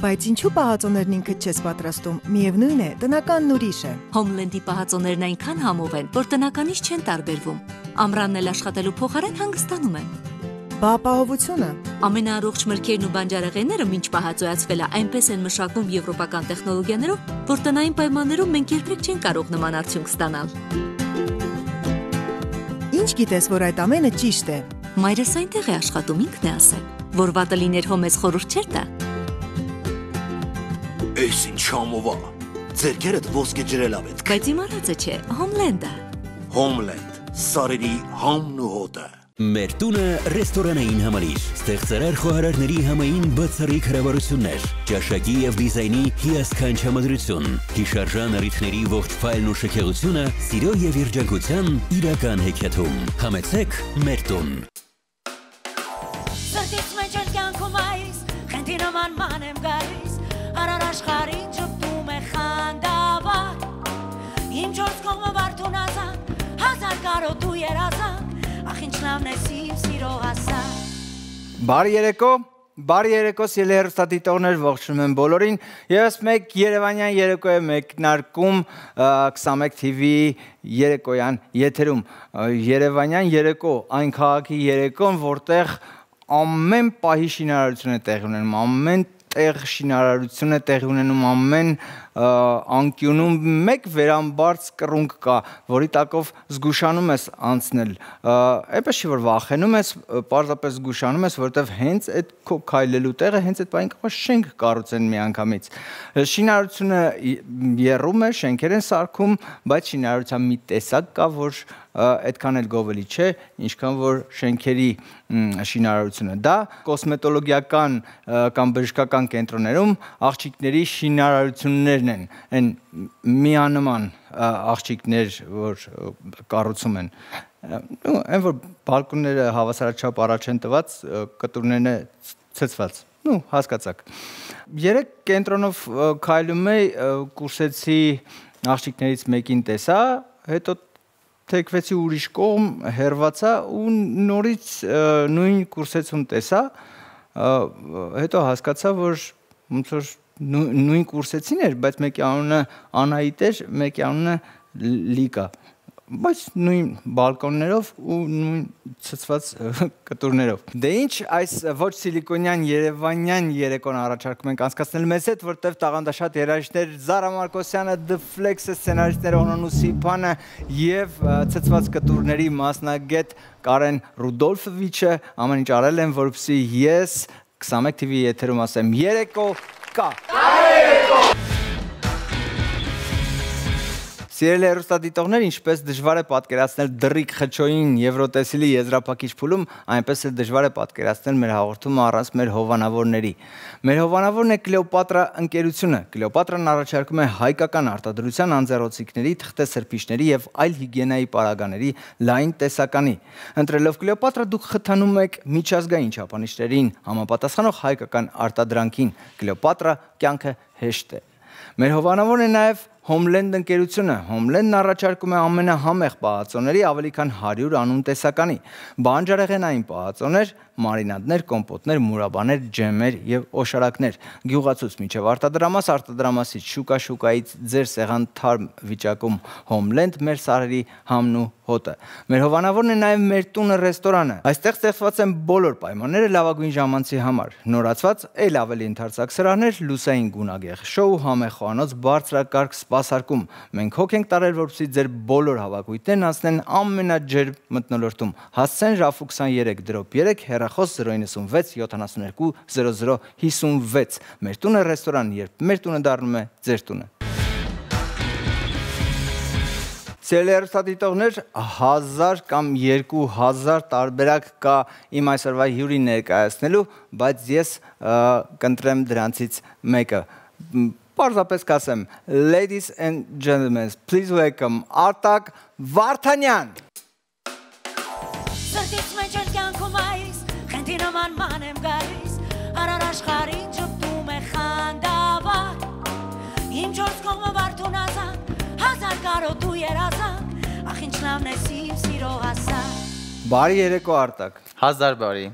Բայց ինչու պահածոներն ինքդ չես պատրաստում, միևնույն է, տնականն ուրիշ է։ Հոմլենդի պահածոներն այնքան համով են, որ տնականից չեն տարբերվում։ Ամռանն էլ աշխատելու փոխարեն հանգստանում են։ Բա ապահովությունը։ Ամենաառողջ մրգերն ու բանջարեղենները մինչ պահածոյացվելը այնպես են մշակվում եվրոպական տեխնոլոգիաներով, որ տնային պայմաններում մենք երբեք չենք կարող նման արդյունք ստանալ։ Ինչ գիտես, որ այդ ամենը ճիշտ է։ Մայրս այնտեղ է աշխատում, ինքն է ասել, որ վատը լիներ հո մեզ խորհուրդ չէր տա։ Էս ինչ համով է։ Ձերքերդ ոսկե ջրելավ են։ Բայց իմ արածը չէ, Հոմլենդը։ Հոմլենդ, սարերի համն ու հոտը։ Մեր տունը ռեստորանային համալիր, ստեղծարար խոհարարների համային բացառիկ հրավառություններ, ճաշակի եւ դիզայնի հիասքանչ համադրություն, հիշարժան առիթների ողջ ֆայլն ու շքեղությունը սիրո եւ երջանկության իրական հեքիաթում։ Համեցեք մեր տուն։ Սրտից մեջ են կյանքում այս, խնդի նման ման եմ գալիս, արար աշխարհին ճպտում է խանդավառ, իմ չորս կողմը վարդուն ազատ, հազար կարոտ ու երազանք, ախ ինչ լավն ես իմ սիրո հասակ։ Բարի երեկո սիրելի հեռուստադիտողներ, ողջունում եմ բոլորին։ Եվս մեկ երևանյան երեկո է մեկնարկում 21 TV-ի երեկոյան եթերում։ Երևանյան երեկո, այն քաղաքի երեկոն, որտեղ ամեն պահի շինարարություն է տեղի ունենում, ամեն տեղ շինարարություն է տեղի ունենում, ամեն անկյունում մեկ վերամբարձ կռունկ կա, որի տակով զգուշանում ես անցնել, այնպես չի որ վախենում ես, պարզապես զգուշանում ես, որովհետև հենց այդ քո քայլելու տեղը հենց այդ բան կարող շենք կառուցեն միանգամից։ Շինարարությունը եռում է, շենքեր են սարքում, բայց շինարարության մի տեսակ կա, որ այդքան էլ գովելի չէ, ինչքան որ շենքերի շինարարությունը։ Դա կոսմետոլոգիական կամ բժշկական կենտրոններում աղջիկների շինարարություններն են, այն միանման աղջիկներ, որ կառուցում են։ Այն որ բալկոնները հավասարաչափ առաջ են տված, կտուրներն է ցցված։ Հասկացաք։ Երեք կենտրոնով քայլում էի, կուրսեցի աղջիկներից մեկին տեսա, հետո թեքվեցի ուրիշ կողմ, հեռվացա ու նորից նույն կուրսեցում տեսա, հետո հասկացա, որ ոնց որ նույն կուրսեցին էր, բայց մեկի անունը Անահիտ էր, մեկի անունը Լիկա, բայց նույն բալկոններով ու նույն ցցված կտուրներով։ Դե ինչ, այս ոչ սիլիկոնյան երևանյան երեկոն առաջարկում ենք անցկացնել մեզ հետ, որտեղ տաղանդաշատ երաժիշտներ Զարա Մարկոսյանը, The Flex-ը, սցենարիստները Օնոն Սիփանը եւ ցցված կտուրների մասնագետ Կարեն Ռուդոլֆովիչը ամեն ինչ արել են, որպեսզի ես 21 TV եթերում ասեմ երեկո կա։ Սիրելի հեռուստադիտողներ, ինչպես դժվար է պատկերացնել դռիկ խճոյին եվրոտեսիլի եզրափակիչ փուլում, այնպես էլ դժվար է պատկերացնել մեր հաղորդումը առանց մեր հովանավորների։ Մեր հովանավորն է Կլեոպատրա ընկերությունը։ Կլեոպատրան առաջարկում է հայկական արտադրության անձեռոցիկների, թղթեսրբիչների եւ այլ հիգիենայի պարագաների լայն տեսականի։ Ընտրելով Կլեոպատրա դուք խթանում եք միջազգային չափանիշներին համապատասխանող հայկական արտադրանքին։ Կլեոպատրա կյանքը հեշտ է։ Մեր հովանավորն է նաև Հոմլենդ ընկերությունը։ Հոմլենդն առաջարկում է ամենահամեղ պահածոների ավելի քան 100 անուն տեսականի, բանջարեղենային պահածոներ, մարինադներ, կոմպոտներ, մուրաբաներ, ջեմեր եւ օշարակներ։ Գյուղացուց մինչեւ արտադրամաս, արտադրամասից շուկայից ձեր սեղան թարմ վիճակում Հոմլենդ մեր սարերի համն ու հոտը։ Մեր հովանավորն է նաև մեր տունը ռեստորանը։ Այստեղ ստեղծված են բոլոր պայմանները լավագույն ժամանցի համար։ Նորացված էլ ավելի ընդարձակ սրահներ, լուսային գունագեղ շոու, համեղ խոհանոց, բարձրակարգ սպասարկում։ Մենք հոգ ենք տարել, որպեսզի ձեր բոլոր հավաքույթներն անցնեն ամենաջերմ մթնոլորտում։ Հասցեն Ժաֆու 23-3 հեռախոս 096 72 0056։ Մեր տունը ռեստորան, երբ մեր տունը դառնում է ձեր տունը։ Սիրելի հեռուստադիտողներ, 1000 կամ 2000 տարբերակ կա իմ այսօրվա հյուրին ներկայացնելու, բայց ես կընտրեմ դրանցից մեկը։ Պարզապես կասեմ, ladies and gentlemen, please welcome Արտակ Վարդանյան։ Սրտից մեջ են կյանքում այս, խնդի նման ման եմ գալիս, արար աշխարհին ճպտում է խանդավառ, իմ չորս կողմը վարդուն ազատ, հազար կարոտ ու երազանք, ախ ինչ լավն ես իմ սիրո հասակ։ Բարի երեկո Արտակ։ Հազար բարի։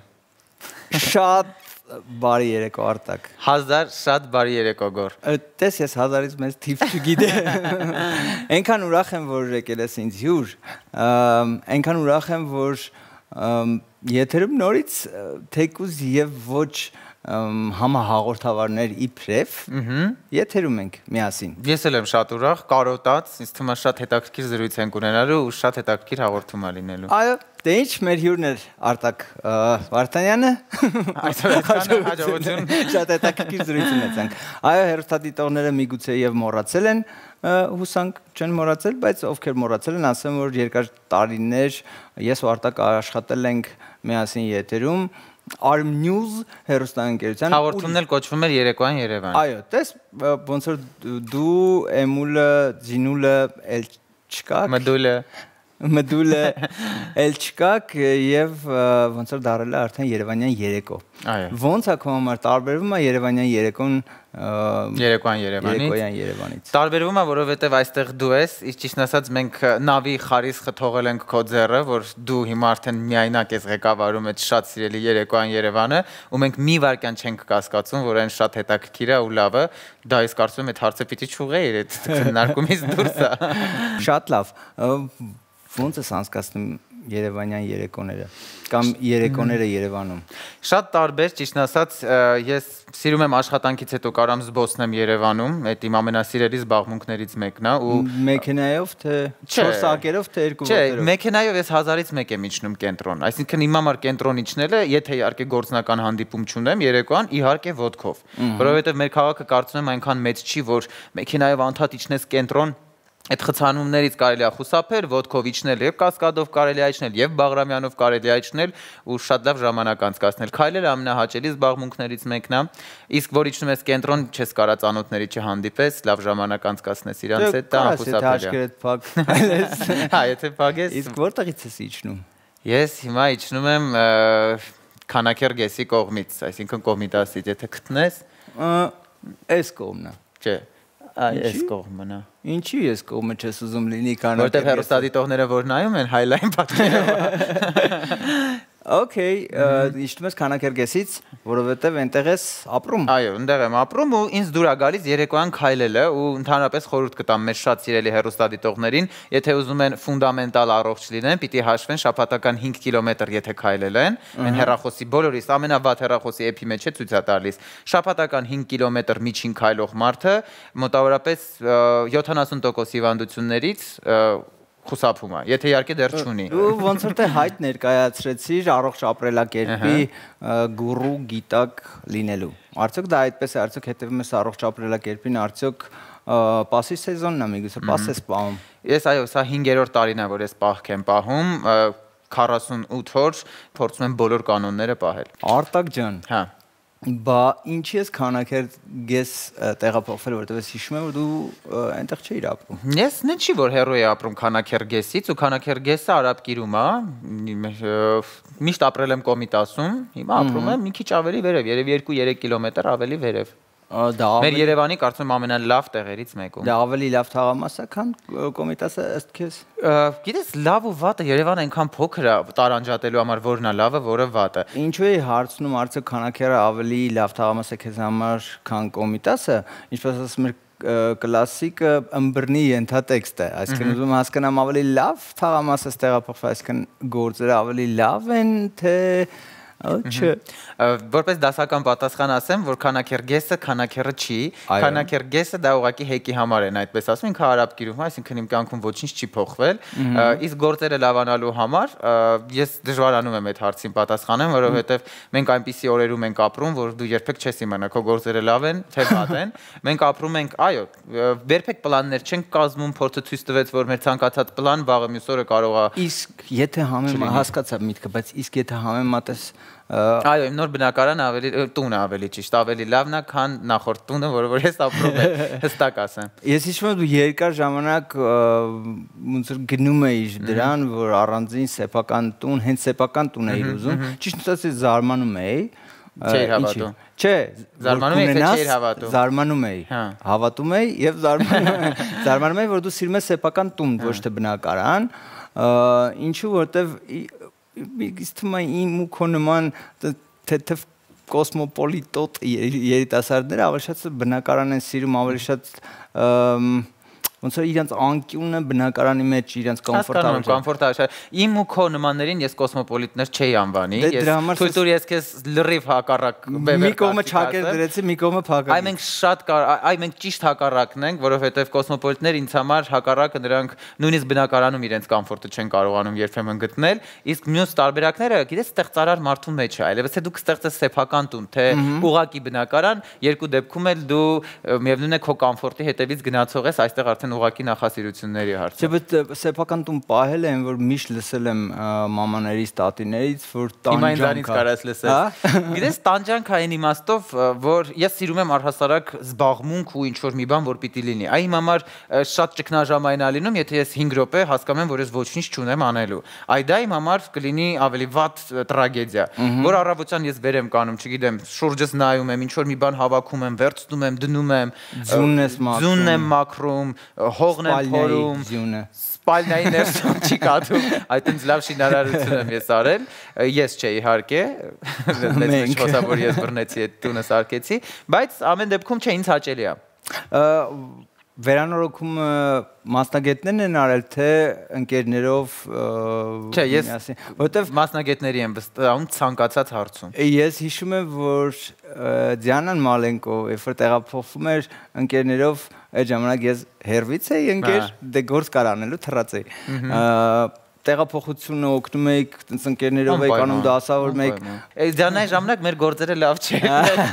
Շատ բարի երեկո Արտակ։ 1000 շատ բարի երեկո Գոր։ Տես ես 1000-ից մեծ թիվ չգիտեմ։ Այնքան ուրախ եմ, որ եկել ես ինձ հյուր։ Այնքան ուրախ եմ, որ եթերում նորից թեկուզ եւ ոչ համահաղորդավարներ իբրև եթերում ենք միասին։ Ես էլ եմ շատ ուրախ, կարոտած, ինձ թվում է շատ հետաքրքիր զրույց ենք ունենալու ու շատ հետաքրքիր հաղորդում է լինելու։ Այո, դե ինչ մեր հյուրն էր Արտակ Վարդանյանը։ Հաջողություն։ Շատ հետաքրքիր զրույց ունեցանք։ Այո, հեռուստադիտողները միգուցե եւ մոռացել են, հուսանք չեն մոռացել, բայց ովքեր մոռացել են, ասեմ, որ երկար տարիներ ես ու Արտակ աշխատել ենք միասին եթերում Arm News հեռուստաընկերության հաղորդումն էլ կոչվում էր Երեկոյան Երևան։ Այո, տես ոնց որ դու Էմուլը, Զինուլը, էլ չկաք, Մդուլը էլ չկաք եւ ոնց որ դարել է արդեն Երևանյան երեկո։ Այո։ Ոնց է քո համար տարբերվում է Երևանյան երեկոն Երեկոյան Երևանից։ Տարբերվում է, որովհետև այստեղ դու ես, իսկ ճիշտն ասած մենք նավի խարիսխը թողել ենք քո ձեռը, որ դու հիմա արդեն միայնակ ես ղեկավարում այդ շատ սիրելի Երեկոյան Երևանը, ու մենք մի վարքյան չենք կասկածում, որ այն շատ հետաքրքիր է ու լավ է։ Դա ես կարծում եմ այդ հարցը պիտի չուղղեիր, այդ քննարկումից դուրս է։ Շատ լավ։ Ոնց ես անցկացնում Երևանյան երեկոները կամ երեկոները Երևանում։ Շատ տարբեր, ճիշտն ասած, ես սիրում եմ աշխատանքից հետո կարամ զբոսնեմ Երևանում, այդ իմ ամենասիրելի զբաղմունքներից մեկն է ու մեքենայով թե 4 ակերով թե 2 ոտերով։ Չէ, մեքենայով ես 1000-ից մեկ եմ իջնում կենտրոն, այսինքն իմ համար կենտրոն իջնելը, եթե իհարկե գործնական հանդիպում չունեմ Երեկոյան, իհարկե ոտքով, որովհետև մեր քաղաքը կարծում եմ այնքան մեծ չի, որ մեքենայով անդադ իջնես կենտրոն Այդ խցանումներից կարելի է խուսափել, ոտքով իջնել եւ կասկադով կարելի է իջնել եւ Բաղրամյանով կարելի է իջնել ու շատ լավ ժամանակ անցկացնել։ Քայլելը ամենահաճելի զբաղմունքներից մեկն է։ Իսկ որ իջնում ես կենտրոն, չես կարա ծանոթների չհանդիպես, լավ ժամանակ անցկացնես իրանց հետ, դա անխուսափելի է։ Հա, եթե փակես։ Իսկ որտեղից ես իջնում։ Ես հիմա իջնում եմ Քանաքեռգեսի կողմից, այսինքն Կոմիտասից, եթե գտնես, այս կողմն է։ Չէ։ Այս կողմն է։ Ինչի ես կողմը չես ուզում լինի Քանաքեռգեսը։ Որտեղ հեռուստադիտողները որ նայում են highline պատկերով։ Okay, իջնում ես Քանաքեռգեսից, որովհետև այնտեղ ես ապրում։ Այո, այնտեղ եմ ապրում ու ինձ դուր է գալիս երեկոյան քայլելը ու ընդհանրապես խորհուրդ կտամ մեր շատ սիրելի հեռուստադիտողներին, եթե ուզում են ֆունդամենտալ առողջ լինեն, պիտի հաշվեն շաբաթական 5 կիլոմետր եթե քայլել են, այն հեռախոսի բոլորիս ամենավատ հեռախոսի էփի մեջ է ցույց է տալիս։ Շաբաթական 5 կիլոմետր միջին քայլող մարդը մոտավորապես 70% հիվանդություններից խուսափում է, եթե իհարկե դեռ չունի։ Ու ոնց որ թե հայտ ներկայացրեցիր առողջ ապրելակերպի գուրու գիտակ լինելու։ Արդյոք դա այդպես է, արդյոք հետևում ես առողջ ապրելակերպին, արդյոք պասի սեզոնն է, միգուցե պաս ես պահում։ Ես այո, սա 5-րդ տարին է, որ ես պահք եմ պահում, 48 օր փորձում եմ բոլոր կանոնները պահել։ Արտակ ջան։ Հա։ Բա ինչի ես Քանաքեռգես տեղափոխվել, որովհետև ես հիշում եմ, որ դու այնտեղ չէիր ապրում։ Ես նեն չի որ հերոյ է ապրում Քանաքեռգեսից ու Քանաքեռգեսը Արաբկիրում է, միշտ ապրել եմ Կոմիտասում, հիմա ապրում եմ մի քիչ ավելի վերև, երևի 2-3 կիլոմետր ավելի վերև։ Մեր Երևանի կարծում եմ ամենալավ տեղերից մեկում։ Դա ավելի լավ թաղամաս է, քան Կոմիտասը ըստ քեզ։ Գիտես, լավ ու վատը Երևանը այնքան փոքր է տարանջատելու համար, որն է լավը, որը վատը։ Ինչու է հարցնում, արդյոք Քանաքեռը ավելի լավ թաղամաս է քեզ համար, քան Կոմիտասը, ինչպես ասում եմ կլասիկը ըմբռնի ենթատեքստ է, այսինքն ուզում հասկանամ ավելի լավ թաղամասը տեղափոխվել, այսինքն գործերը ավելի լավ են, թե Չէ, որպես դասական պատասխան ասեմ, որ Քանաքեռգեսը Քանաքեռը չի, Քանաքեռգեսը դա ուղղակի հեկի համար են այդպես ասում, ինքը արաբկիրում է, այսինքն իմ կյանքում ոչինչ չի փոխվել, իսկ գործերը լավանալու համար ես դժվարանում եմ այդ հարցին պատասխանեմ, որովհետև մենք այնպիսի օրերում ենք ապրում, որ դու երբեք չես իմանա քո գործերը լավ են, թե վատ են, մենք ապրում ենք, այո, երբեք պլաններ չենք կազմում, փորձը ցույց տվեց, որ մեր ցանկացած պլան վաղը մյուս օրը կարող է։ Իսկ եթե հասկացա միտքը, բայց իսկ եթե համեմատես Այո, իմ նոր բնակարանը ավելի տունը ավելի ճիշտ, ավելի լավն է, քան նախորդ տունը, որը որ ես ապրում եմ, հստակ ասեմ։ Ես հիշում եմ դու երկար ժամանակ ոնց որ գնում էիր դրան, որ առանձին սեփական տուն, հենց սեփական տուն էիր ուզում, ճիշտ ասած զարմանում էի։ Չէի հավատում։ Չէ, զարմանում էի, թե չէի հավատում։ Զարմանում էի։ Հավատում էի եւ զարմանում էի, որ դու սիրում ես սեփական տուն, ոչ թե բնակարան, ինչու որտեվ Իսկ թվում է իմ ու քո նման թեթև կոսմոպոլիտոտ երիտասարդները ավելի շատ բնակարան են սիրում, ավելի շատ ոնց որ իրենց անկյունը բնակարանի մեջ իրենց կոմֆորտաբլ։ Իմ ու քո նմաններին ես կոսմոպոլիտներ չէի անվանի, ես թույլ ես քեզ լրիվ հակառակ մի կողմը չակեր դրեցի, մի կողմը փակա։ Այ մենք շատ այ մենք ճիշտ հակառակն ենք, որովհետև կոսմոպոլիտները ինձ համար հակառակը նրանք նույնիսկ բնակարանում իրենց կոմֆորտը չեն կարողանում երբեմն գտնել, իսկ մյուս տարբերակները, գիտես, ստեղծարար մարդու մեջ է, այլևս թե դու կստեղծես սեփական տուն, թե ուղակի բնակարան, երկու դեպքում էլ դու միևնույն է քո կոմֆորտի հետևից գնացող ես, այստեղ արդեն ուղակի նախասիրությունների հարց։ Չէ, բայց սեփական տուն պահել են, որ միշտ լսել եմ մամաներից, տատիներից, որ տանջանք կարաս լսել։ Գիտես, տանջանք այն իմաստով, որ ես սիրում եմ առհասարակ զբաղմունք ու ինչ որ մի բան, որ պիտի լինի։ Այ իմ համար շատ ճգնաժամային է լինում, եթե ես 5 րոպե հասկանում եմ, որ ես ոչինչ չունեմ անելու։ Այ դա իմ համար կլինի ավելի վատ տրագեդիա, որ առավոտյան ես վեր եմ կանում, չգիտեմ, շուրջս նայում եմ, ինչ որ մի բան հավաքում եմ, վերցնում եմ, դնում եմ, ձունն եմ մաքրում, հողն եմ փորում, սպալնայի ներսում չի կաթում, այդտենց լավ շինարարություն եմ ես արել, ես չէ իհարկե, մեծ խոսա, որ ես բռնեցի այդ տունը սարքեցի, բայց ամեն դեպքում չէ, ինձ հաճելի է։ Վերանորոգումը մասնագետներն են արել, թե ընկերներով Չէ, ես որովհետև մասնագետների եմ վստահում ցանկացած հարցում։ Ես հիշում եմ, որ Դիանան Մալենկո, երբ որ տեղափոխվում էր ընկերներով, այդ ժամանակ ես հերվից էի ընկեր, դե գործ կար անելու թռած էի։ Տեղափոխությունը օգնում եք, տենց ընկերներով եք անում դասավոր մեկ։ Դրանային ժամանակ մեր գործերը լավ չէին։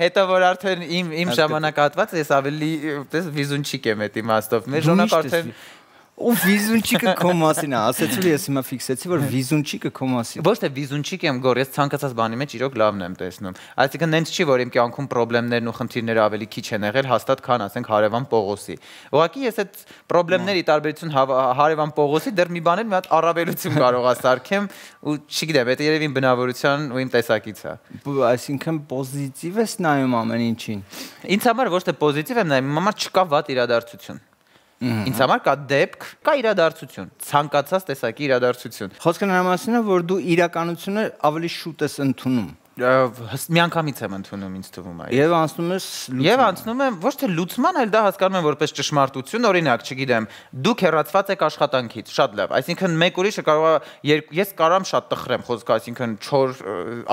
Հետո որ արդեն իմ ժամանակահատվածը ես ավելի վիզունչիկ եմ այդ իմաստով։ Մեր ժամանակ արդեն ու վիզունչիկը քո մասին է, ասեցի որ ես հիմա ֆիքսեցի, որ վիզունչիկը քո մասին։ Ոչ թե վիզունչիկ եմ գոր, ես ցանկացած բանի մեջ իրոք լավն եմ տեսնում։ Այսինքն նենց չի, որ իմ կյանքում խնդիրներն ու խնդիրները ավելի քիչ են եղել, հաստատ քան ասենք Հարևան Պողոսի։ Ուղղակի ես այդ խնդիրների տարբերություն Հարևան Պողոսի դեռ մի բան էլ մի հատ առավելություն կարող ասարքեմ ու չգիտեմ, դա երևի իմ բնավորության ու իմ տեսակից է։ Այսինքն պոզիտիվ ես նայում ամեն ինչին։ Ինձ համար ոչ թե պոզիտիվ եմ նայում, իմ համար չկա վատ իրադարձություն։ Ինձ համար կա դեպք, կա իրադարձություն, ցանկացած տեսակի իրադարձություն։ Խոսքը նրա մասին է, որ դու իրականությունը ավելի շուտ ես ընդունում։ Միանգամից եմ ընդունում, ինձ թվում է։ Եվ անցնում ես Եվ անցնում եմ ոչ թե լուծման, այլ դա հասկանում եմ որպես ճշմարտություն, օրինակ, չգիտեմ, դուք հեռացված եք աշխատանքից, շատ լավ։ Այսինքն մեկ ուրիշը կարող է ես կարամ շատ տխրեմ խոսքը, այսինքն չոր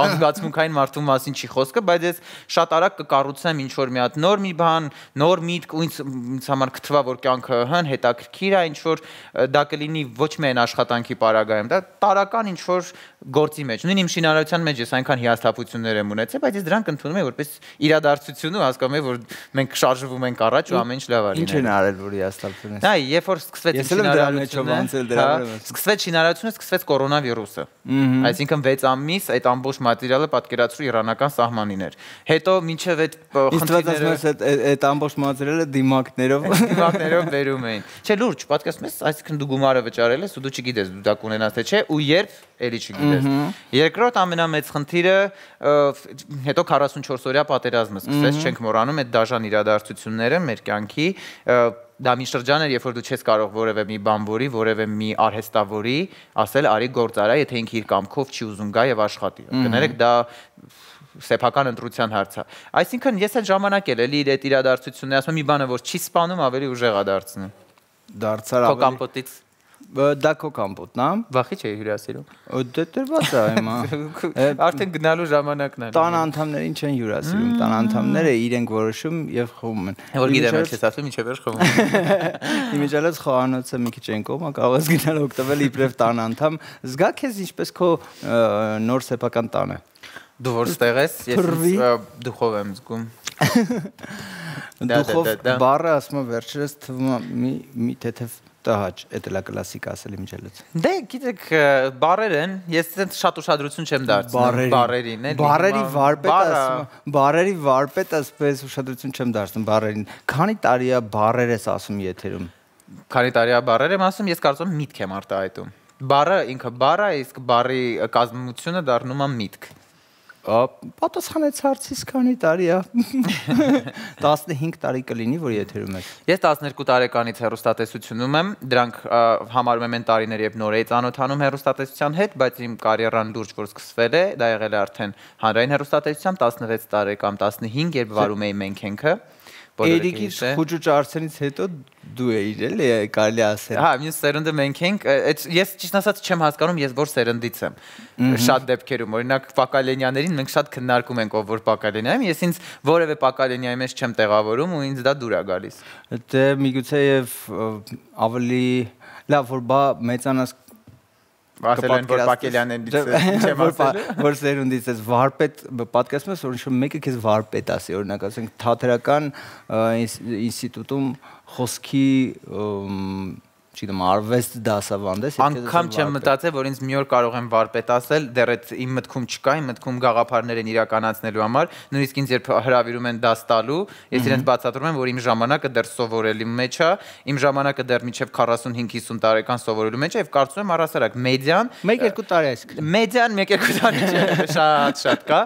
անզգացմունքային մարդու մասին չի խոսքը, բայց ես շատ արագ կկառուցեմ ինչ որ մի հատ նոր մի բան, նոր միտք ու ինձ համար կթվա որ կյանքը հետաքրքիր է, ինչ որ դա կլինի ոչ միայն աշխատանքի պարագայում, դա տարական ինչ որ գործի մեջ։ Նույն իմ շինարարության մեջ ես այնքան հիասթափություններ եմ ունեցել, բայց ես դրանք ընդունում եմ որպես իրադարձություն ու հասկանում եմ, որ մենք շարժվում ենք առաջ ու ամեն ինչ լավ է լինելու։ Ինչ են արել, որ հիասթափություն ես։ Դա երբ որ սկսվեց շինարարությունը, սկսվեց կորոնավիրուսը։ Այսինքն 6 ամիս այդ ամբողջ մատերիալը պատկերացրու իրանական սահմանին էր։ Հետո մինչև այդ խնդիրները այդ ամբողջ մատերիալը դիմակներով վերում էին։ Չէ, լուրջ, պատկերացնում ես, այսինքն դու գումարը վճարել ես ու դու չգիտես դու դա կունենաս թե չէ ու երբ էլի չգիտես։ Երկրորդ ամենամեծ խնդիրը հետո 44-օրյա պատերազմը սկսեց, չենք մոռանում այդ դաժան իրադարձությունները մեր կյանքի, դա մի շրջան էր, երբ որ դու չես կարող որևէ մի բանվորի, որևէ մի արհեստավորի ասել արի գործ արա, եթե ինքը իր կամքով չի ուզում գա եւ աշխատի։ Կներեք, դա սեփական ընտրության հարց է։ Այսինքն ես այդ ժամանակ էլ էլի այդ իրադարձությունները ասում եմ մի բանը որ չի սպանում, ավելի ուժեղ է դարձնում։ Դարձար ավելի։ Քո կամպոտից Դա քո կամպոտն է։ Վախի չէի հյուրասիրում։ Դե դրված է հիմա։ Արդեն գնալու ժամանակն է։ Տան անդամներին չեն հյուրասիրում, տան անդամները իրենք որոշում եւ խովում են։ Որ գիտեմ, ես ասում ինչեւ էր խովում։ Իմիջիալից խոհանոցը մի քիչ են կողմը, կարող ես գնալ օգտվել իբրև տան անդամ։ Զգա քեզ ինչպես քո նոր սեփական տանը։ Դու որ ստեղ ես, ես դուխով եմ զգում։ Դուխով բառը ասում եմ վերջերս թվում է մի թեթև տհաճ, դա է կլասիկ ասել իմիջիալից։ Դե գիտեք, բառեր են, ես այդպես շատ ուշադրություն չեմ դարձնում բառերին, էլի։ Բառերի վարպետ ասպես ուշադրություն չեմ դարձնում բառերին։ Քանի տարի է բառեր ես ասում եթերում։ Քանի տարի է բառեր եմ ասում, ես կարծում եմ միտք եմ արտահայտում։ Բառը ինքը բառ է, իսկ բառի կազմությունը դառնում է միտք։ Պատասխանեց հարցիս քանի տարի է 15 տարի կլինի որ եթերում է Ես 12 տարեկանից հեռուստատեսությունում եմ դրանք համարում եմ այն տարիներ երբ նոր էի ծանոթանում հեռուստատեսության հետ բայց իմ կարիերան լուրջ որ սկսվել է դա եղել է արդեն հանրային հեռուստատեսությամբ 16 տարեկան 15 երբ վարում էի մենք ինքը Էրիկից խուճուճ արցենից հետո դու էիր էլի կարելի ասել Հա մյուս սերունդը մենք ենք ես ճիշտ ասած չեմ հասկանում ես որ սերնդից եմ շատ դեպքերում օրինակ Պակալենյաներին մենք շատ քննարկում ենք ով որ Պակալենյա եմ ես ինձ որևէ Պակալենյայի մեջ չեմ տեղավորում ու ինձ դա դուր է գալիս Դե միգուցե եւ ավելի լավ որ բա մեծանաս Ասել են որ Պակելյաններից չեմ ասել որ սերունդից ես վարպետ պատկերացնում ես որ ինչ մեկը քեզ վարպետ ասի օրինակ ասենք թատերական ինստիտուտում խոսքի չգիտեմ արվեստ դասավանդես անգամ չեմ մտածել որ ինձ մի օր կարող եմ վարպետ ասել դեռ այդ իմ մտքում չկա իմ մտքում գաղափարներ են իրականացնելու համար նույնիսկ ինձ երբ հրավիրում են դաս տալու ես իրենց բացատրում եմ որ իմ ժամանակը դեռ սովորելի մեջ է իմ ժամանակը դեռ մինչև 45-50 տարեկան սովորելու մեջ է եւ կարծում եմ առասարակ մեդիան 1-2 տարի է մեդիան 1-2 տարի չէ շատ կա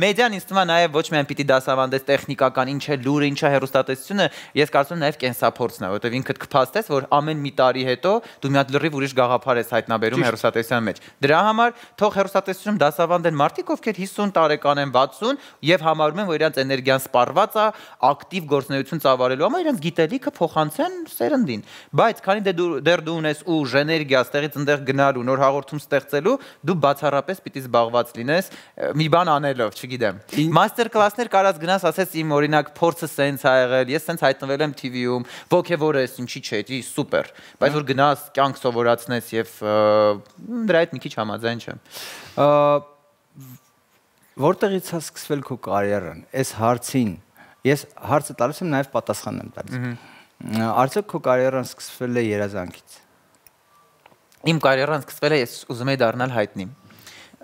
մեդիան ինձ թվում է նաեւ ոչ միայն պիտի դասավանդես տեխնիկական ինչ է լուրը ինչ է հեռուստատեսությունը ես կարծում եմ նաեւ կենսափորձն է որովհետեւ ինքդ կփաստես որ ամեն մի տարի հետո դու մի հատ լրիվ ուրիշ գաղափար ես հայտնաբերում հեռուստատեսության մեջ։ Դրա համար թող հեռուստատեսությունում դասավանդեն մարդիկ, ովքեր 50 տարեկան են, 60 եւ համարում են, որ իրենց էներգիան սպառված է, ակտիվ գործունեություն ծավալելու համար իրենց գիտելիքը փոխանցեն սերնդին։ Բայց քանի դեռ դու ունես ուժ, էներգիա, ստեղից ընդեղ գնալու, նոր հաղորդում ստեղծելու, դու բացառապես պիտի զբաղված լինես մի բան անելով, չգիտեմ։ Մաստեր կլասներ կարած գնաս, ասես իմ օրինակ փորձը սենց ա եղել, ես սենց հայտնվել եմ TV-ում, ոգևոր ես, ինչի՞ չէ, սուպեր։ Բայց որ գնաս կյանք սովորացնես եւ դրա հետ մի քիչ համաձայն չեմ։ Որտեղից է սկսվել քո կարիերան։ Այս հարցին ես հարցը տալիս եմ նաեւ պատասխանն եմ տալիս։ Արդյոք քո կարիերան սկսվել է երազանքից։ Իմ կարիերան սկսվել է ես ուզում եի դառնալ հայտնի։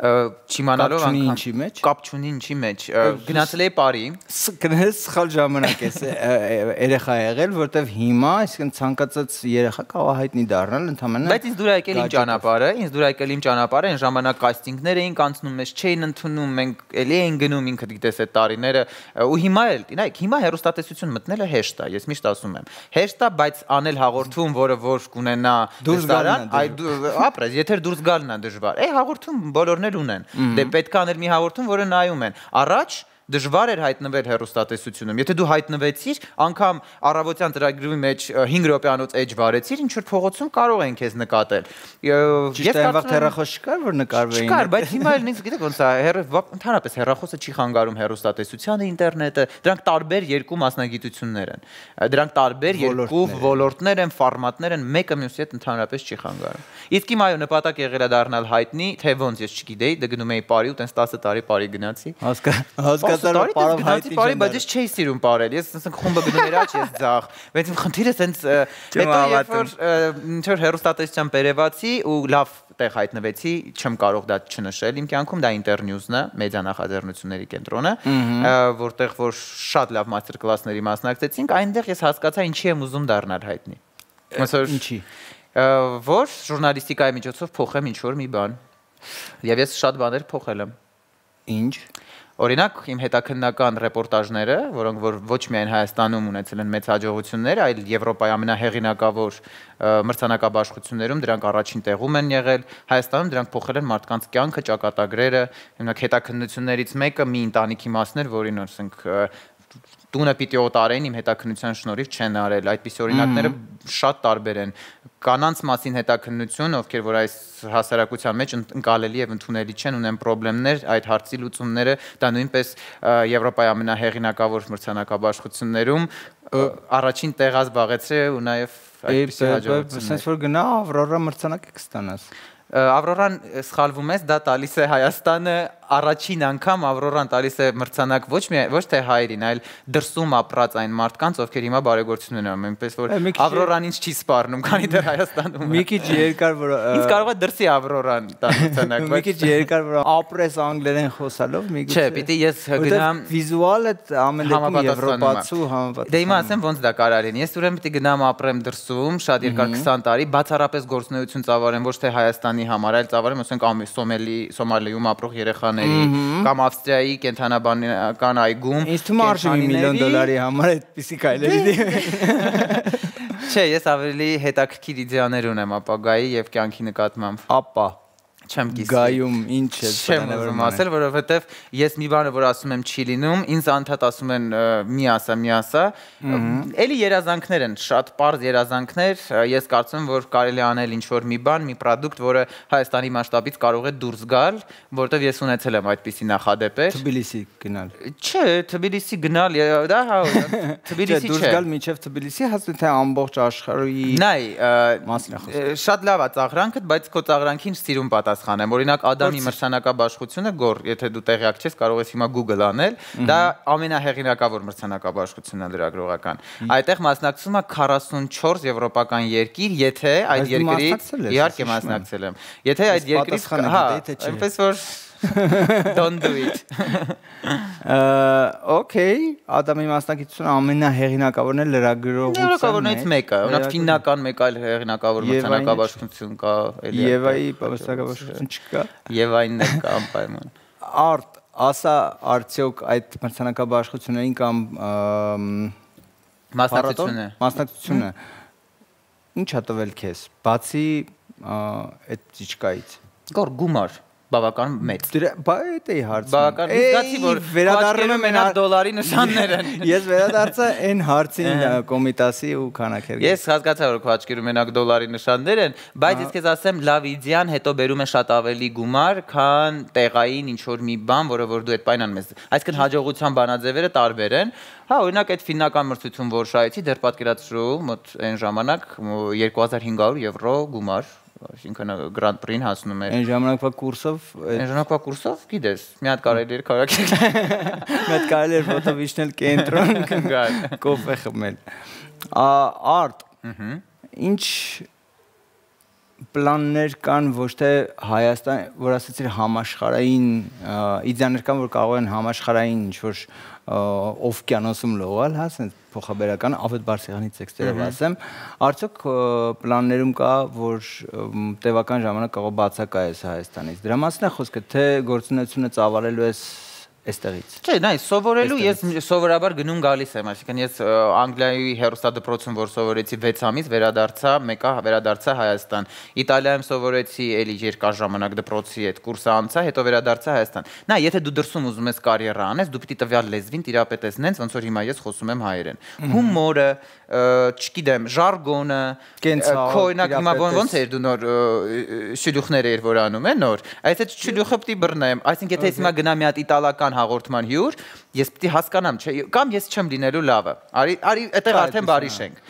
Չիմանալով անգամ կապ չունի ինչի մեջ գնացել էի Պարի գնես սխալ ժամանակ ես երեխա եղել որտեվ հիմա այսինքն ցանկացած երեխա կարող է հայտնի դառնալ ընդհանրապես բայց ինձ դուր եկել իմ ճանապարհը այն ժամանակ կաստինգներ էին կանցնում մեզ չէին ընդունում մենք էլի էին գնում ինքդ գիտես այդ տարիները ու հիմա էլ նայեք հիմա հեռուստատեսություն մտնելը հեշտ է ես միշտ ասում եմ հեշտ է բայց անել հաղորդում որը որ կունենա դուրսարան ապրես եթե դուրս գալն է դժվար հաղորդում բոլորն ունեն դե պետք է անել մի հաղորդում որը նայում են առաջ դժվար էր հայտնվել հեռուստատեսությունում եթե դու հայտնվեցիր անգամ առավոտյան ծրագրի մեջ 5 րոպեանոց էջ վարեցիր ինչ որ փողոցում կարող են քեզ նկատել ես կարծում հեռախոս չկար որ նկարվեին չկար բայց հիմա էլ ինձ գիտեք ոնց է ընդհանրապես հեռախոսը չի խանգարում հեռուստատեսությանը ինտերնետը դրանք տարբեր երկու մասնագիտություններ են դրանք տարբեր երկու ոլորտներ են ֆորմատներ են մեկը մյուսի հետ ընդհանրապես չի խանգարում իսկ իմ այո նպատակ եղել է դառնալ հայտնի թե ոնց ես չգիտեի դե գնում էի Պարի ու տենց 10 տարի Պարի գնացի Բայց ես չէի սիրում ապարել։ Ես ասենք խումբը գնում էր աճ, ես ձախ։ Բայց իմ խնդիրը սենց հետո երբ որ ինչ որ հեռուստատեսության բերեվացի ու լավ տեղ հայտնվեցի, չեմ կարող դա չնշել իմ կյանքում, դա Internews-ն է, մեդիա նախաձեռնությունների կենտրոնը, որտեղ որ շատ լավ մաստեր կլասների մասնակցեցինք, այնտեղ ես հասկացա ինչի եմ ուզում դառնալ հայտնի։ Ինչի։ Որ ժուրնալիստիկայի միջոցով փոխեմ ինչ որ մի բան։ Եվ ես շատ բաներ փոխել եմ։ Ինչ Օրինակ իմ հետաքննական ռեպորտաժները, որոնք որ ոչ միայն Հայաստանում ունեցել են մեծ հաջողություններ, այլ Եվրոպայի ամենահեղինակավոր մրցանակաբաշխություններում դրանք առաջին տեղում են եղել, Հայաստանում դրանք փոխել են մարդկանց կյանքը, ճակատագրերը, օրինակ հետաքննություններից մեկը մի ընտանիքի մասն էր, որին ասենք տունը պիտի օտարեն իմ հետաքննության շնորհիվ չեն արել, այդպիսի օրինակները շատ տարբեր են։ Կանանց մասին հետաքննություն, ովքեր որ այս հասարակության մեջ ընկալելի եւ ընդունելի չեն, ունեն խնդիրներ, այդ հարցի լուծումները դա նույնպես Եվրոպայի ամենահեղինակավոր մրցանակաբաշխություններում առաջին տեղը զբաղեցրել ու նաեւ այդպիսի հաջողություններ։ Սենց որ գնա Ավրորա մրցանակ կստանաս։ Ավրորան սխալվում ես, դա տալիս է Հայաստանը առաջին անգամ Ավրորան տալիս է մրցանակ ոչ թե հայերին, այլ դրսում ապրած այն մարդկանց, ովքեր հիմա բարեգործություն են անում, այնպես որ Ավրորան ինձ չի սպառնում, քանի դեռ Հայաստանում է։ Մի քիչ երկար որ ինձ կարող է դրսի Ավրորան տալ մրցանակ, մի քիչ երկար որ ապրես անգլերեն խոսալով, մի քիչ։ Չէ, պիտի ես գնամ վիզուալը ամեն դեպքում եվրոպացու համապատասխան։ Դե հիմա ասեմ ոնց դա կարող լինի։ Ես ուրեմն պիտի գնամ ապրեմ դրսում շատ երկար 20 տարի, բացառապես գործունեություն ծավալեմ ոչ թե Հայաստանի ամենի համար, այլ ծավալում ասենք Սոմալիում ապրող երեխաների կամ Ավստրիայի կենթանաբանական այգում։ Ինձ թվում է արժի $1 միլիոն համար այդպիսի քայլերի։ Չէ, ես ավելի հետաքրքիր իդեաներ ունեմ ապագայի եւ կյանքի նկատմամբ։ Ապա Չեմ կիսի։ Գայում ինչ է Չեմ ուզում ասել, որովհետև ես մի բանը որ ասում եմ չի լինում, ինձ անդադ ասում են մի ասա։ Էլի երազանքներ են, շատ པարզ երազանքներ, ես կարծում եմ, որ կարելի անել ինչ-որ մի բան, մի պրոդուկտ, որը Հայաստանի մասշտաբից կարող է դուրս գալ, որովհետև ես ունեցել եմ այդպիսի նախադեպեր։ Թբիլիսի գնալ։ Չէ, Թբիլիսի գնալ, դա հա, Թբիլիսի չէ։ Դուրս գալ մինչև Թբիլիսի, հասնում թե ամբողջ աշխարհի Նայ, մասն է խոսքը։ շատ լավ է ծաղրանքդ, բայց քո ծաղրանքին սիրուն պատասխանեմ։ Օրինակ Ադամի մրցանակաբաշխությունը գոր, եթե դու տեղյակ չես, կարող ես հիմա Google անել, դա ամենահեղինակավոր մրցանակաբաշխությունն է լրագրողական։ Այդտեղ մասնակցում է 44 եվրոպական երկիր, եթե այդ երկրի իհարկե մասնակցել եմ։ Եթե այդ երկրից, հա, այնպես որ don't do it։ Okay, Ադամի մասնակցությունը ամենահեղինակավորն է լրագրողության։ Լրագրողներից մեկը, օրինակ ֆիննական մեկ այլ հեղինակավոր մրցանակաբաշխություն կա, էլի։ Եվայի մրցանակաբաշխություն չկա։ Եվային էլ կա անպայման։ Արդ, ասա արդյոք այդ մրցանակաբաշխություններին կամ մասնակցությունը ինչ է տվել քեզ, բացի այդ ճիճկայից։ Գոր գումար բավական մեծ։ Բա դա է հարցը։ Բավական զգացի որ վերադառնում եմ մենակ դոլարի նշաններ են։ Ես վերադարձա այն հարցին կոմիտասի ու քանակեր։ Ես հասկացա որ քո աչքերում մենակ դոլարի նշաններ են, բայց ես քեզ ասեմ լավ իդեան հետո բերում է շատ ավելի գումար, քան տեղային ինչ որ մի բան, որը որ դու այդ պայնան ես։ Այսինքն հաջողության բանաձևերը տարբեր են։ Հա, օրինակ այդ ֆիննական մրցություն որ շահեցի, դեռ պատկերացրու մոտ այն ժամանակ 2500 եվրո գումար, այսինքն Grand Prix-ին հասնում էր։ Այն ժամանակվա կուրսով, գիտես, մի հատ կարելի էր քարակել։ Մի հատ կարելի էր ֆոտովիշնել կենտրոն գալ, կոֆե խմել։ Արդ, ինչ պլաններ կան ոչ թե Հայաստան, որ ասեցիր համաշխարհային իդեաներ կան, որ կարող են համաշխարհային ինչ-որ օվկիանոսում լողալ, հա, ասենց փոխաբերական ավետ բարձրանի տեքստերով ասեմ, արդյոք պլաններում կա, որ տևական ժամանակ կարող բացակայես Հայաստանից։ Դրա մասին է խոսքը, թե գործունեությունը ծավալելու ես այստեղից։ Չէ, նայ, սովորելու ես սովորաբար գնում գալիս եմ, այսինքն ես Անգլիայի հերոստադպրոցում որ սովորեցի 6 ամիս, վերադարձա, մեկը վերադարձա Հայաստան։ Իտալիայում սովորեցի էլի երկար ժամանակ դպրոցի այդ կուրսը անցա, հետո վերադարձա Հայաստան։ Նայ, եթե դու դրսում ուզում ես կարիերա անես, դու պիտի տվյալ լեզվին տիրապետես նենց, ոնց որ հիմա ես խոսում եմ հայերեն։ Հումորը, չգիտեմ, ժարգոնը, քո օրինակ հիմա ոնց էր դու նոր շյուլյուխներ էր որ անում է նոր։ Այս այդ շյուլյուխը պիտի բռնեմ, այսինքն եթե հիմա գնամ մի հատ իտալական հաղորդման հյուր, ես պիտի հասկանամ, չէ, կամ ես չեմ լինելու լավը։ Արի, այդտեղ արդեն բարի շենք։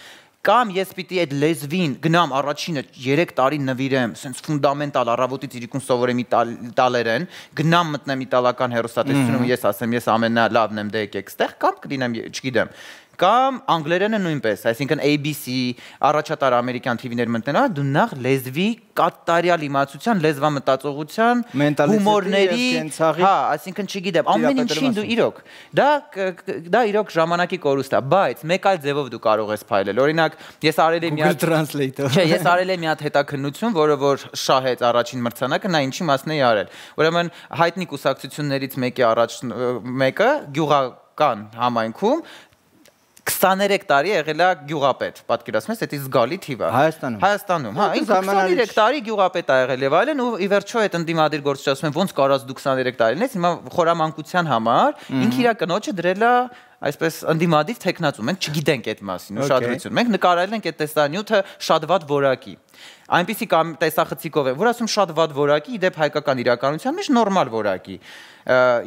Կամ ես պիտի այդ լեզվին գնամ առաջինը 3 տարի նվիրեմ, sense ֆունդամենտալ առավոտից իրիկուն սովորեմ իտալերեն, գնամ մտնեմ իտալական հերոստատեսությունում, ես ասեմ, ես ամենալավն եմ, դե եկեք ստեղ, կամ կլինեմ, չգիտեմ։ Կամ անգլերենը նույնպես, այսինքն ABC, առաջատար ամերիկյան TV-ներ մտնելա, դու նախ լեզվի կատարյալ իմացության, լեզվամտածողության, հումորների, հա, այսինքն չգիտեմ, ամեն ինչին դու իրոք, դա իրոք ժամանակի կորուստ է, բայց մեկ այլ ձևով դու կարող ես փայլել, օրինակ, ես արել եմ մի հատ Translator, չէ, ես արել եմ մի հատ հետաքննություն, որը որ շահեց առաջին մրցանակը, նա ինչի մասն է արել, ուրեմն հայտնի կուսակցություններից մեկը գյուղական համայնքում 23 տարի եղել է գյուղապետ, պատկերացնում ես, դա զգալի թիվ է։ Հայաստանում, հա, 23 տարի գյուղապետ է եղել եւ այլն, ու ի վերջո այդ ընդդիմադիր գործիչ ասում են, ոնց կարած դու 23 տարի լինես, հիմա խորամանկության համար ինքը իր կնոջը դրել է այսպես ընդդիմադիր տեխնացու, մենք չգիտենք այդ մասին, ուշադրություն։ Մենք նկարել ենք այդ տեսանյութը շատ վատ որակի։ Այնպիսի կամ տեսախցիկով է, որ ասում շատ վատ որակի, իդեպ հայկական իրականության մեջ նորմալ որակի։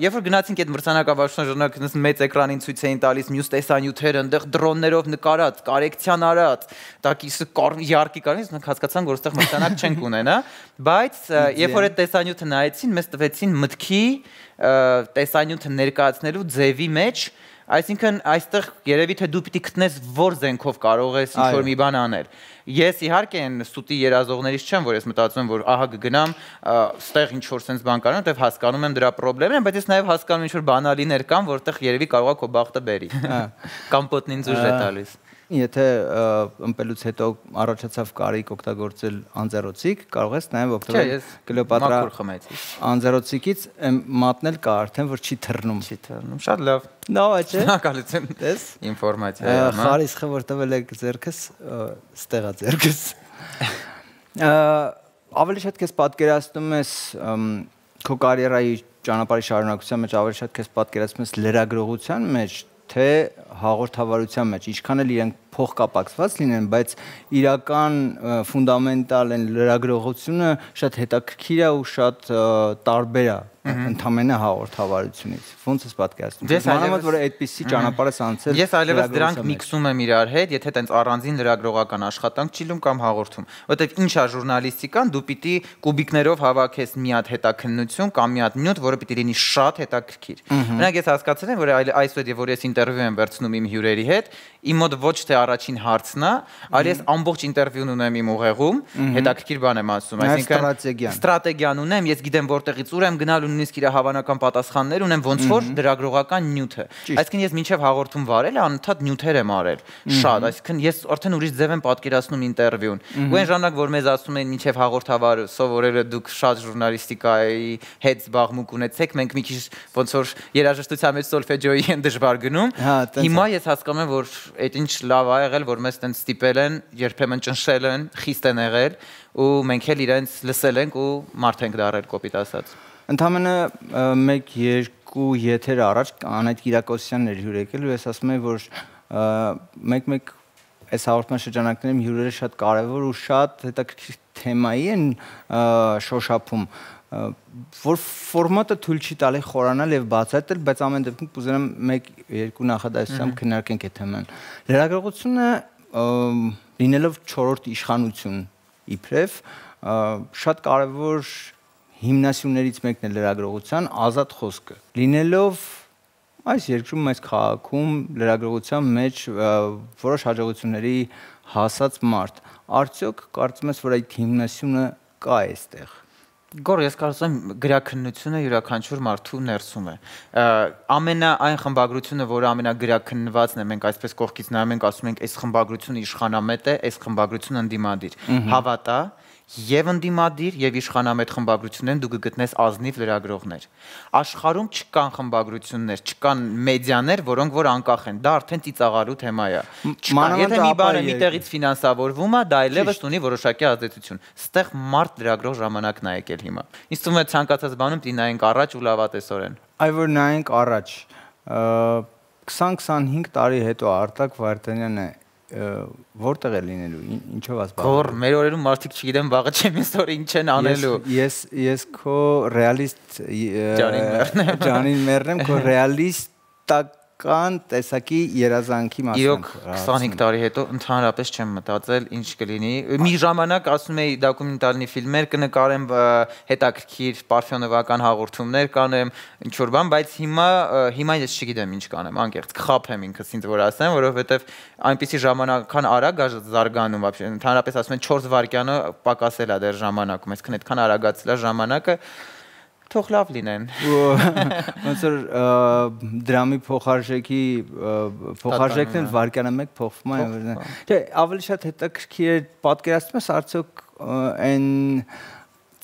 Երբ որ գնացինք այդ մրցանակաբաշխության ժամանակ մեծ էկրանին ցույց էին տալիս մյուս տեսանյութերը, այնտեղ դրոններով նկարած, կարեկցիան արած, տակիսը յարկի կարից, մենք հասկացանք, որ այստեղ մրցանակ չենք ունենա, բայց երբ որ այդ տեսանյութը նայեցին, մեզ տվեցին մտքի տեսանյութը ներկայացնելու ձևի մեջ. Այսինքն այստեղ երևի թե դու պիտի գտնես որ զենքով կարող ես ինչ-որ մի բան անել։ Ես իհարկե այն ստուտի երազողներից չեմ, որ ես մտածում եմ, որ ահա կգնամ, ստեղ ինչ-որ sense բան կանեմ, որտեղ հասկանում եմ դրա խնդիրները, բայց ես նաև հասկանում ինչ-որ բանալիներ կան, որտեղ երևի կարող է քո բախտը բերի։ Կամ պոտնին զուժ է տալիս։ եթե ըմպելուց հետո առաջացավ կարիք օգտագործել անձեռոցիկ, կարող ես նաև օգտվել Կլեոպատրա անձեռոցիկից մատնել կա արդեն, որ չի թռնում։ Շատ լավ։ Լավ է, չէ՞։ Շնորհակալություն։ Տես։ Ինֆորմացիա։ Խարիսխը որ տվել եք ձեռքս, ստեղա ձեռքս։ Ավելի շատ քեզ պատկերացնում ես քո կարիերայի ճանապարհի շարունակության մեջ ավելի շատ քեզ պատկերացնում ես լրագրողության մեջ, թե հաղորդավարության մեջ, ինչքան էլ իրենք փոխկապակցված լինեն, բայց իրական ֆունդամենտալ են լրագրողությունը շատ հետաքրքիր է ու շատ տարբեր է ընդամենը հաղորդավարությունից։ Ոնց ես պատկերացնում։ Մանավանդ որ այդպիսի ճանապարհ ես անցել։ Ես այլևս դրանք միքսում եմ իրար հետ, եթե տենց առանձին լրագրողական աշխատանք չի լինում կամ հաղորդում, որովհետև ինչ է ժուրնալիստիկան, դու պիտի կուբիկներով հավաքես մի հատ հետաքննություն կամ մի հատ նյութ, որը պիտի լինի շատ հետաքրքիր։ Օրինակ ես հասկացել եմ, որ այսօր որ ես ինտերվյու եմ վերցնում իմ հյուրերի հետ, իմ մոտ ոչ թե առաջին հարցն է, այլ ես ամբողջ ինտերվյուն ունեմ իմ ուղեղում, հետաքրքիր բան եմ ասում, այսինքն ստրատեգիան ունեմ, ես գիտեմ որտեղից ուր եմ գնալու, նույնիսկ իր հավանական պատասխաններ ունեմ, ոնց որ լրագրողական նյութը։ Այսինքն ես մինչև հաղորդում վարել անընդհատ նյութեր եմ արել, շատ, այսինքն ես արդեն ուրիշ ձև եմ պատկերացնում ինտերվյուն։ Ու այն ժամանակ որ մեզ ասում են մինչև հաղորդավար սովորելը դուք շատ ժուրնալիստիկայի հետ զբաղմունք ունեցեք, մենք մի քիչ ոնց որ երաժշտության մեջ սոլֆեջոյի են դժվար գնում։ Հիմա ես հասկանում եմ, որ այդ ինչ լավ ա եղել, որ մեզ տենց ստիպել են, երբեմն ճնշել են, խիստ են եղել ու մենք էլ իրենց լսել ենք ու մարդ ենք դարել կոպիտ ասած։ Ընդամենը 1-2 եթեր առաջ Անահիտ Կիրակոսյանն էր հյուր եկել ու ես ասում եմ, որ մեկ այս հաղորդման շրջանակներում հյուրերը շատ կարևոր ու շատ հետաքրքիր թեմայի են շոշափում, որ ֆորմատը թույլ չի տալի խորանալ եւ բացատրել, բայց ամեն դեպքում կուզենամ 1-2 նախադասությամբ քննարկենք այդ թեման։ Լրագրողությունը լինելով 4-րդ իշխանություն իբրև շատ կարևոր հիմնասյուներից մեկն է լրագրողության ազատ խոսքը։ Լինելով այս երկրում, այս քաղաքում լրագրողության մեջ որոշ հաջողությունների հասած մարդ, արդյոք կարծում ես, որ այդ հիմնասյունը կա այստեղ։ Գոր ես կարծում եմ գրաքննությունը յուրաքանչյուր մարդու ներսում է։ Այն խմբագրությունը, որը ամենագրաքննվածն է, մենք այսպես կողքից նայում ենք, ասում ենք, այս խմբագրությունը իշխանամետ է, այս խմբագրությունը ընդդիմադիր։ Հավատա, եւ ընդդիմադիր եւ իշխանամետ խմբագրություններն դու կգտնես ազնիվ լրագրողներ։ Աշխարհում չկան խմբագրություններ, չկան մեդիաներ, որոնք որ անկախ են։ Դա արդեն ծիծաղալու թեմա է։ Եթե մի բանը մի տեղից ֆինանսավորվում է, դա այլևս ունի որոշակի ազդեցություն։ Ստեղ մարդ լրագրող ժամանակն է եկել հիմա։ Ինձ թվում է ցանկացած բանում պիտի նայենք առաջ ու լավատեսորեն։ Այ որ նայենք առաջ 20-25 տարի հետո Արտակ Վարդանյանը որտեղ է լինելու, ինչով ասպարում։ Գոր, մեր օրերում մարդիկ չգիտեմ վաղը չեմ իսօր ինչ են անելու։ Ես քո ռեալիստ Ջանին մեռնեմ, քո ռեալիստական տեսակի երազանքի մասին։ Իրոք 25 տարի հետո ընդհանրապես չեմ մտածել ինչ կլինի։ Մի ժամանակ ասում էի դոկումենտալնի ֆիլմեր կնկարեմ, հետաքրքիր պարֆյոնովական հաղորդումներ կանեմ, ինչ որ բան, բայց հիմա ես չգիտեմ ինչ կանեմ, անկեղծ կխաբեմ ինքս ինձ որ ասեմ, որովհետև այնպիսի ժամանակական արագ է զարգանում, вообще ընդհանրապես ասում են 4 վայրկյանը պակասել է դեռ ժամանակում, այսինքն այդքան արագացել է ժամանակը, թող լավ լինեն։ Ոնց որ դրամի փոխարժեքն էլ վայրկյանը մեկ փոխվում է։ Չէ, ավելի շատ հետաքրքիր է պատկերացնում ես արդյոք այն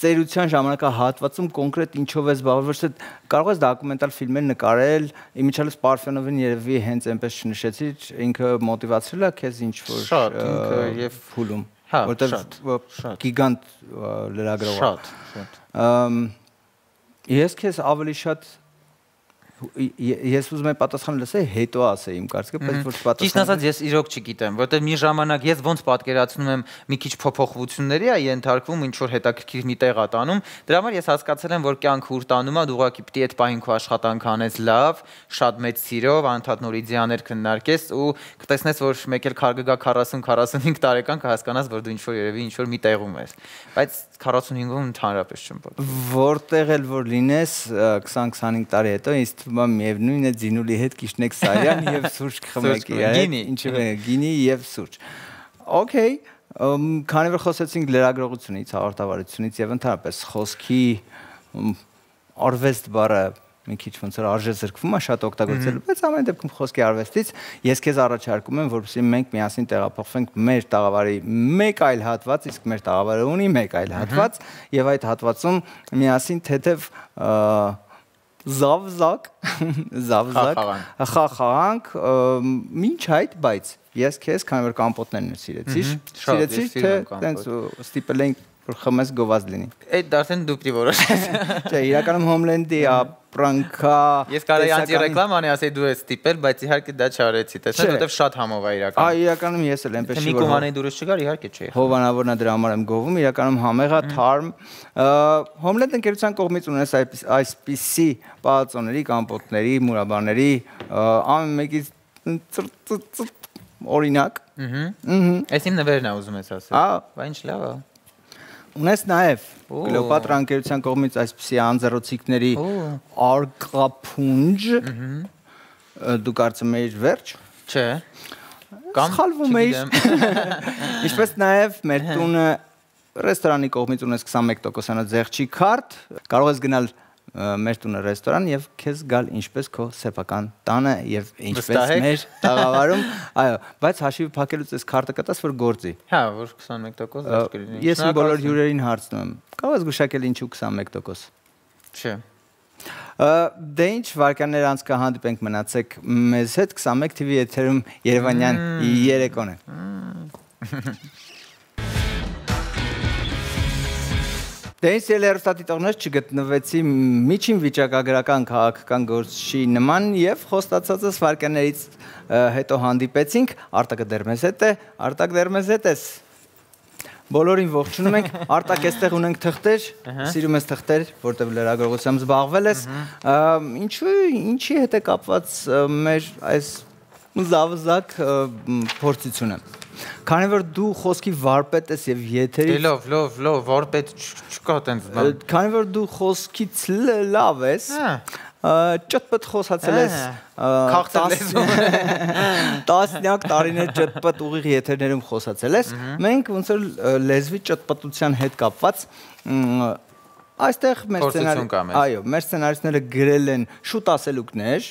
ծերության ժամանակահատվածում կոնկրետ ինչով է զբաղվել, ոչ թե կարող ես դոկումենտալ ֆիլմեր նկարել, իմիջիալս Պարֆյոնովին երևի հենց այնպես չնշեցիր, ինքը մոտիվացրել է քեզ ինչ որ շատ ինքը եւ փուլում, որտեղ գիգանտ լրագրող է։ Շատ։ Ես քեզ ավելի շատ ես ուզում եմ պատասխան լսել, հետո ասեի իմ կարծիքը, բայց ոչ պատասխան։ Ճիշտ ասած ես իրոք չգիտեմ, որտեղ մի ժամանակ ես ոնց պատկերացնում եմ մի քիչ փոփոխությունների է ենթարկվում, ինչ որ հետաքրքիր մի տեղ է տանում, դրա համար ես հասկացել եմ, որ կյանքը ուր տանում է, դու ուղղակի պիտի այդ պահին քո աշխատանքը անես լավ, շատ մեծ սիրով, անընդհատ նոր իդեաներ քննարկես ու կտեսնես, որ մեկ էլ կգա 40-45 տարեկան կհասկանաս, որ դու ինչ որ երևի ինչ որ մի տեղում ես, բայց 45-ում ընդհանրապես չեմ պատկերացնում։ Որտեղ էլ որ լինես 20-25 տարի հետո ինձ թվում է միևնույն է Ձինուլի հետ կիշնեք Սարյան եւ սուրճ կխմեք, ինչու՞ է գինի եւ սուրճ։ Okay, քանի որ խոսեցինք լրագրողությունից, հաղորդավարությունից եւ ընդհանրապես խոսքի արվեստ բառը մի քիչ ոնց որ արժե զրկվում է շատ օգտագործելու, բայց ամեն դեպքում խոսքի արվեստից ես քեզ առաջարկում եմ, որպեսզի մենք միասին տեղափոխվենք մեր տաղավարի մեկ այլ հատված, իսկ մեր տաղավարը ունի մեկ այլ հատված, եւ այդ հատվածում միասին թեթև զավզակ խախանք ինչ այդ, բայց ես քեզ քանի որ կամպոտներն սիրեցի, թե տենց ստիպել ենք որ խմես գովազ լինի։ Այդ դարձեն դու պիտի որոշես։ Չէ, իրականում Homeland-ի ապրանքա Ես կարայի անտի-ռեկլամ անի, ասեի դու ես ստիպել, բայց իհարկե դա չարեցի, տեսա, որովհեւ շատ համով է իրականում։ Այ իրականում ես էլ այնպես չի որ Նիկոմանեի դուրս չգար, իհարկե չէ։ Հովանավորն է դրա համար եմ գովում, իրականում համեղ է, թարմ։ Homeland ընկերության կողմից ունես այսպիսի պալածոների, կամպոտների, մուրաբաների ամեն մեկից օրինակ։ Այս իմ նվերն է ուզում ես ասել։ Բա ինչ լավ է։ Ունես նաև Կլեոպատրա ընկերության կողմից այսպիսի անձեռոցիկների արկափունջ, դու կարծում ես վերջ։ Չէ։ Կամ սխալվում ես։ Ինչպես նաև մեր տունը ռեստորանի կողմից ունես 21%-անոց զեղչի քարտ, կարող ես գնալ մեր տունը ռեստորան եւ քեզ գալ ինչպես քո սեփական տանը եւ ինչպես մեր տաղավարում, այո, բայց հաշիվ փակելուց այս քարտը կտաս որ գործի։ Հա, որ 21% զերծ կլինի։ Ես իմ բոլոր հյուրերին հարցնում եմ, կարող ես գուշակել ինչու 21%։ Չէ։ Դե ինչ վարկաններ անց կհանդիպենք մնացեք մեզ հետ 21 TV եթերում Երևանյան երեկոն է։ Դե ինձ հեռուստադիտողներ չգտնվեցի միջին վիճակագրական քաղաքական գործի նման եւ խոստացածս վարկաններից հետո հանդիպեցինք, Արտակը դեռ մեզ հետ է, Արտակ դեռ մեզ հետ ես։ Բոլորին ողջունում ենք, Արտակ էստեղ ունենք թղթեր, սիրում ես թղթեր, որտեղ լրագրողությամբ զբաղվել ես, ինչի հետ է կապված մեր այս զավզակ փորձությունը։ Քանի որ դու խոսքի վարպետ ես եւ եթերի լավ, վարպետ չկա տենց բան։ Քանի որ դու խոսքից լավ ես, ճտպտ խոսացել ես տասնյակ տարիներ ճտպտ ուղիղ եթերներում խոսացել ես, մենք ոնց որ լեզվի ճտպտության հետ կապված այստեղ մեր սցենարիստները գրել են շուտ ասելուկներ,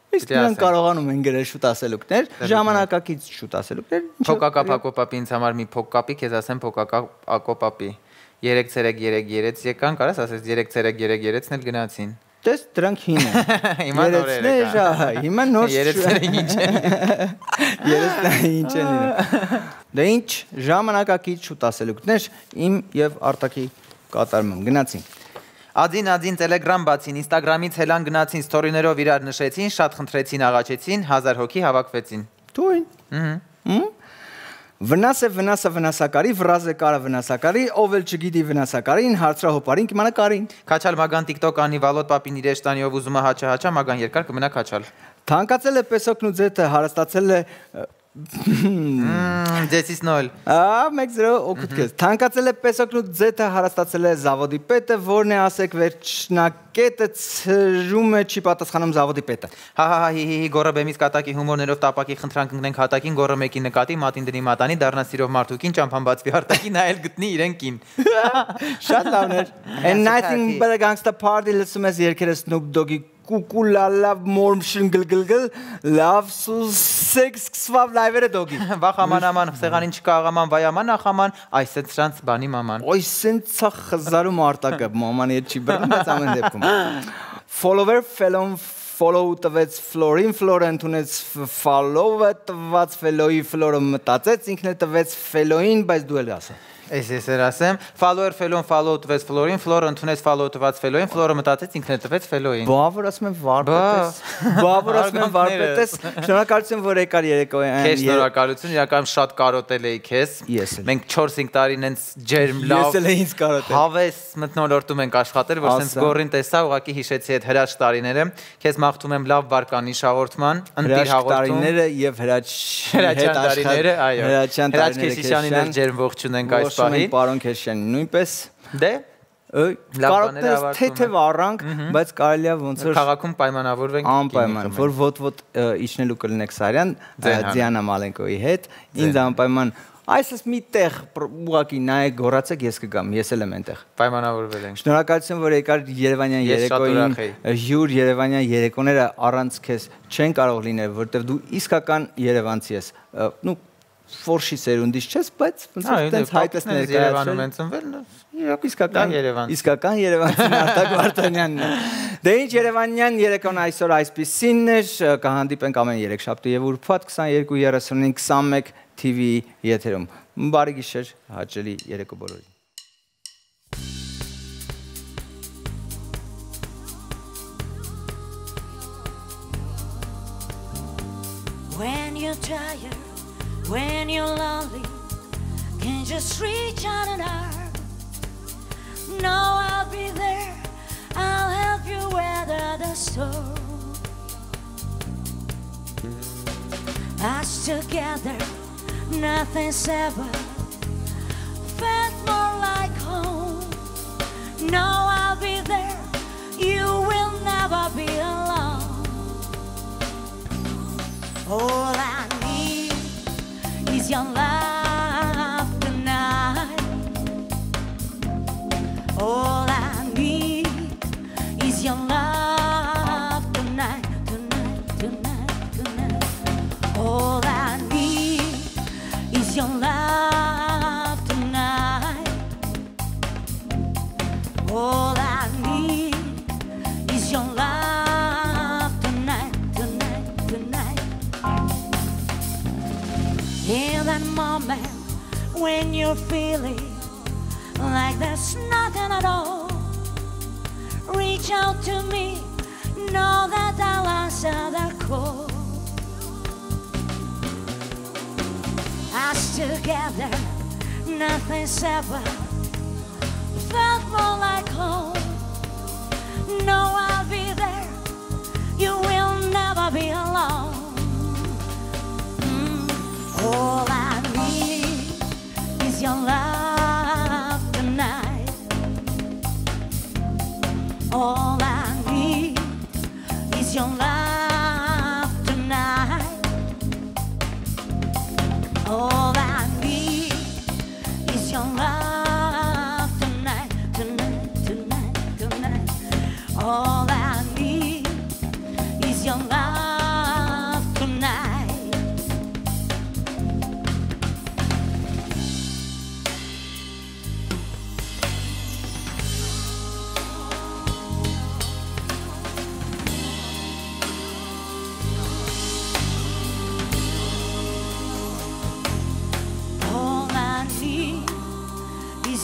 իսկ նրանք կարողանում են գրել շուտ ասելուկներ, ժամանակակից շուտ ասելուկներ։ Փոկակա Ակոպապի ինձ համար մի փոկ կապի, քեզ ասեմ փոկակա Ակոպապի 3-3 եկան, կարաս ասես 3-3 էլ գնացին։ Տես դրանք հին են։ Հիմա նորեր եկան։ Հիմա նոր 3-3 ինչ են։ 3-3 ինչ են։ Դե ինչ ժամանակակից շուտ ասելուկներ իմ եւ Արտակի կատարմամբ գնացին։ Ադին Telegram բացին, Instagram-ից հելան գնացին, story-ներով իրար նշեցին, շատ խնդրեցին, աղաչեցին, 1000 հոգի հավաքվեցին։ Դույն։ Վնասակարի, վրազը կարը վնասակարի, ով էլ չգիտի վնասակարին, հարցրահոպարին կիմանա կարին։ Քաչալ Մագան TikTok անի Վալոտ Պապին իր էշտանիով ուզում է հաչա, Մագան երկար կմնա քաչալ։ Թանկացել է պեսոկն ու ձեթը, հարստացել է Ձեցից նոյլ։ 1-0 օգուտ քեզ։ Թանկացել է պեսոկն ու ձեթը, հարստացել է զավոդի պետը, որն է ասեք վերջնակետը ծրում է չի պատասխանում զավոդի պետը։ Հի գորաբեմից կատակի հումորներով տապակի խնդրանք ընկնենք հատակին, գորը մեկի նկատի, մատին դնի մատանի, դառնա սիրով մարդուկին, ճամփան բացվի արտակի, նայել գտնի իրեն կին։ Շատ լավն էր։ And nothing but a gangster party լսում ես երկերը Snoop Dogg-ի Կուկուլալա մորմշն գլգլգլ լավ սեքս սկսվավ լայվերը դոգի վախ աման սեղանին չկա աղաման վայաման ախաման այս է սրանց բանի մաման ոյ սենցա խզարում արտակը մաման հետ չի բռնում բայց ամեն դեպքում follower follow տվեց ֆլորին ֆլորը ընդունեց follow-ը տված ֆելոյի ֆլորը մտածեց ինքն է տվեց ֆելոյին բայց դու էլ ասա Ես ասեմ, follower fellow follow տվեց ֆլորին, ֆլորը ընդունեց follow տված ֆելոյին, ֆլորը մտածեց ինքն է տվեց ֆելոյին։ Բավար ասում եմ վարպետես։ Շնորհակալություն որ եկար երեկոյան։ Քեզ շնորհակալություն, իրականում շատ կարոտել էի քեզ։ Մենք 4-5 տարին հենց ջերմ լավ։ Ես էլ ինձ կարոտել։ Հավես մթնոլորտում ենք աշխատել, որ sense գորին տեսա, ուղղակի հիշեցի այդ հրաշ տարիները։ Քեզ մաղթում եմ լավ բարկանիշ հաղորդման, ընտիր հաղորդում։ Տարիները եւ հրաչյան տարիները, այո։ Հրաչ Քեշիշյանին էլ ջերմ ողջուն ենք այս Պարոն պարոն Քեշյանի նույնպես դե կարոտես թեթև առանք բայց կարելի է ոնց որ քաղաքում պայմանավորվենք անպայման որ ոտ իջնելու կլինեք Սարյան Դիանա Մալենկոյի հետ ինձ անպայման Այսպես մի տեղ ուղակի նայեք, գոռացեք, ես կգամ, ես էլ եմ այնտեղ։ Պայմանավորվել ենք։ Շնորհակալություն, որ եկար Երևանյան երեկոյին, յուր Երևանյան երեկոները առանց քեզ չեն կարող լինել, որովհետև դու իսկական երևանցի ես։ Ну, ֆորշի սերունդից չես, բայց ոնց որ տենց հայտես ներկայացրել։ Երևանում են ծնվել, իրոք իսկական երևանցին Արտակ Վարդանյանն է։ Դե ինչ Երևանյան երեկոն այսօր այսպիսին էր, կհանդիպենք ամեն երեքշաբթի եւ ուրբաթ 22:35 21 TV եթերում։ Բարի գիշեր, հաճելի երեկո բոլորին։ When you're tired, when you're lonely, can just reach out an arm. No, I'll be there. I'll help you weather the storm. Us together, nothing's ever felt more like home. No, I'll be there. You will never be alone. All I need is your love tonight. All I need is your love tonight, tonight, tonight, tonight. All I need is your love tonight. All I need is your love tonight, tonight, tonight. In that moment when you're feeling like there's nothing at all, reach out to me, know that I'll answer the call. Us together, nothing's ever felt more like home. No, I'll be there, you will never be alone. All I need is your love tonight. All I need is your love tonight. All I need is your love tonight, tonight, tonight, tonight. All I need is your love tonight.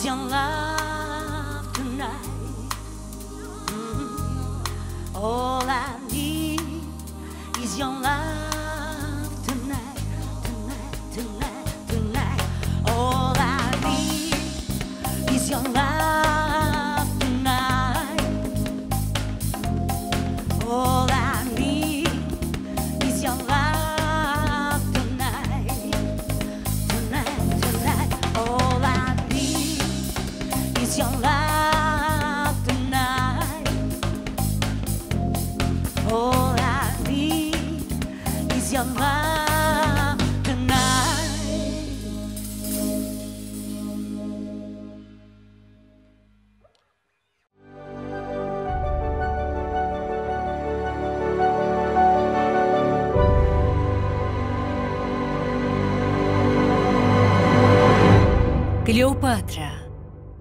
Your love tonight. All I need is your love tonight, tonight, tonight, tonight. All I need is your love tonight. All I need is your love tonight, tonight, tonight. All I is your love tonight. All I need is your love tonight. Կլեոպատրա,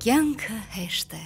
կյանքը հեշտ է։